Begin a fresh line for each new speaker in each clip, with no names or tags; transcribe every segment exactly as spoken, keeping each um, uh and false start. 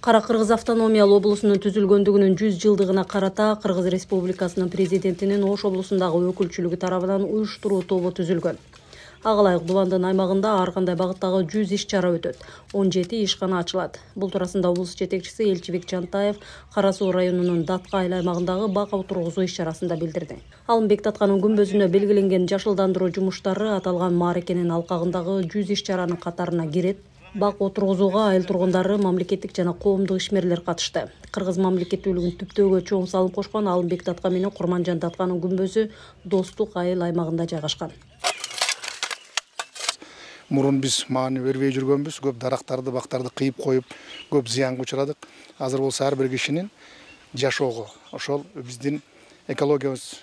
Кара Кыргыз автономиялуу облусунун түзүлгөндүгүнүн жүз жылдыгына карата Кыргыз Республикасынын президентинин Ош облусундагы өкүлчүлүгү тарабынан уюштуруу тобу түзүлгөн. Ага ылайык Дубандын аймагында ар кандай багыттагы жүз иш чара өтөт. он жети ишкана ачылат. Бул туурасында облус жетекчиси Элчибек Жантаев Кара Суу районунун Датка айыл аймагындагы бак отургузуу иш чарасында билдирди. Алымбек Татканын күмбөзүнө белгиленген жашылдандыруу жумуштары аталган мааракенин алкагындагы жүз иш чаранын катарына кирет. Бак отургузууга айыл тургундары, мамлекеттик жана коомдук ишмерлер катышты. Кыргыз мамлекеттүүлүгүн түптөөгө чоң салым кошкон Алымбек Татка менен Курманжан Татканын күмбөзү Достук айыл аймагында жайгашкан.
Мурун биз маани бербей жүргөнбүз, көп дарактарды, бактарды кыйып коюп, көп зыянга учурадык. Азыр болсо ар бир кишинин жашоого, ошол биздин экологиябыз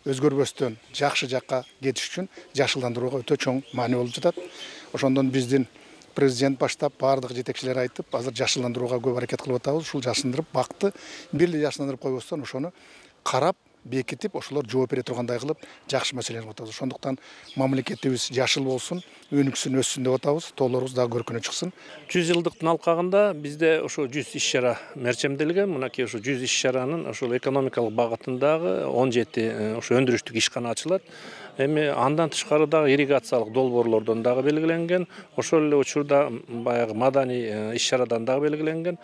өзгөрбөстөн жакшы жакка кетиш үчүн жашылдандырууга өтө чоң маани болуп жатат. Ошондон биздин президент баштап баардык жетекчилер айтып, азыр жашылдандырууга көп аракет кылып атабыз. Ушул жашылдандырып, бакты бир эле жашылдандырып койбостон ошону карап, бекитип, ошолор жооп бере тургандай кылып жакшы маселени кылып атабыз. Ошондуктан мамлекетибиз жашыл болсун, өнүксүн, өссүн деп атабыз. Тоолорубуз дагы көркүнө чыксын.
жүз жылдыктын алкагында бизде ошо жүз иш чара мерчемделген. Мынакей ошо жүз иш чаранын ошол экономикалык багытындагы он жети ошо өндүрүштүк ишкана ачылат. Эми андан тышкары дагы ирригациялык долбоорлордон дагы белгиленген. Ошол эле учурда баягы маданий иш чарадан дагы белгиленген.